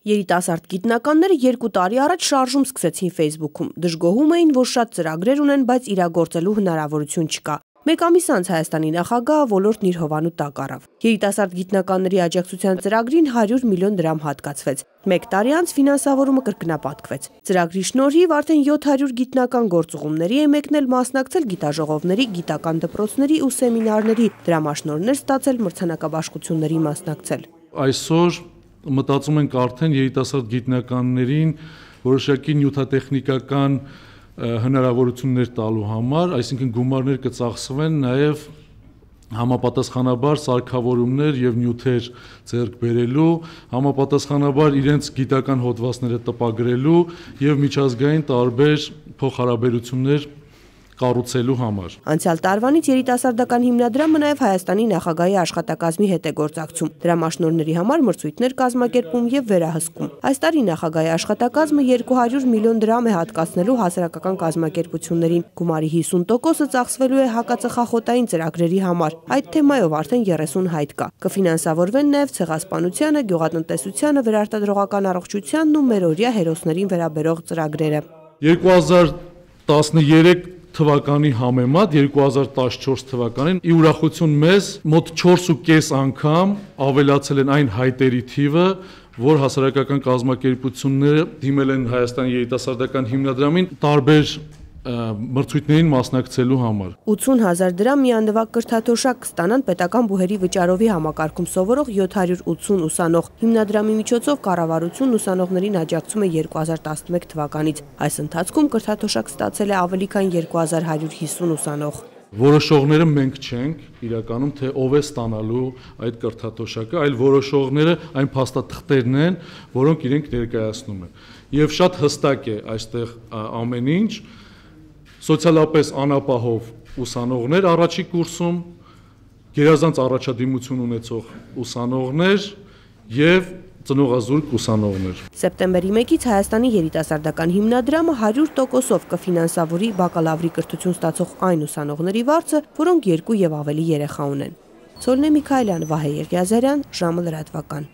Երիտասարդ գիտնականները 2 տարի առաջ շարժում սկսեցին Facebook-ում, դժգոհում էին, որ շատ ծրագրեր ունեն, բայց իրագործելու հնարավորություն չկա։ Մեկ ամիս անց Հայաստանի նախագահը ոլորտն իր հովանու տակ առավ։ Երիտասարդ գիտնականների աջակցության ծրագրին 100 միլիոն դրամ հատկացվեց։ Մեկ տարի անց ֆինանսավորումը կրկնապատկվեց։ Ծրագրի շնորհիվ արդեն 700 գիտնական գործուղումների է մեկնել, մասնակցել գիտաժողովների, գիտական դպրոցների ու սեմինարների, դրամաշնորհներ ստացել, մրցանակաբաշխությունների մասնակցել։ Այսօր մտածում ենք արդեն երիտասարդ գիտնականներին որոշակի նյութատեխնիկական հնարավորություններ տալու համար, այսինքն գումարներ կծախսվեն նաև համապատասխանաբար սարքավորումներ եւ նյութեր ձեռք բերելու, համապատասխանաբար իրենց գիտական հոդվածները տպագրելու եւ միջազգային տարբեր փոխհարաբերություններ կառուցելու համար։ Անցյալ տարվանից երիտասարդական հիմնադրամը նաև Հայաստանի նախագահի աշխատակազմի հետ է գործակցում։ Դրամաշնորհների համար մրցույթներ կազմակերպում եւ վերահսկում։ Այս տարի նախագահի աշխատակազմը 200 միլիոն դրամ է հատկացնելու հասարակական կազմակերպություններին։ Գումարի 50%-ը ծախսվելու է հակածխախոտային ծրագրերի համար։ Այդ թեմայով արդեն 30 հայտ կա։ Կֆինանսավորվեն նաև ցեղասպանությանը, գյուղատնտեսությանը, վերարտադրողական առողջությանն ու մերօրյա հերոսներին վերաբերող ծրագրերը։ 2013 թվականի համեմատ 2014 թվականին ի ուրախություն մեզ մոտ 4.5 անգամ ավելացել են այն հայտերի թիվը, որ հասարակական կազմակերպությունները դիմել են Հայաստանի երիտասարդական հիմնադրամին տարբեր մրցույթներին մասնակցելու համար։ 80,000 դրամ միանդվակ կրթաթոշակ կստանան պետական բուհերի վճարովի համակարգում սովորող 780 ուսանող։ Հիմնադրամի միջոցով կառավարությունն ուսանողներին աջակցում է 2011 թվականից։ Այս ընթացքում կրթաթոշակ ստացել է ավելի քան 2150 ուսանող։ Որոշողները մենք չենք, իրականում թե ով է ստանալու այդ կրթաթոշակը, այլ որոշողները այն փաստաթղթերն են, որոնք իրենք ներկայացնում են։ Եվ շատ հստակ է այստեղ ամեն ինչ, սոցիալապես անապահով ուսանողներ առաջի կուրսում, գերազանց առաջադիմություն ունեցող ուսանողներ եւ ծնողազուրկ ուսանողներ։ Սեպտեմբերի 1-ից Հայաստանի երիտասարդական հիմնադրամը 100%-ով կֆինանսավորի բակալավրի կրթություն ստացող այն ուսանողների վարձը, որոնք 2 եւ ավելի երեխա ունեն։ Սոլնե Միքայելյան, Վահե Եղիազարյան, ժամը լրատվական։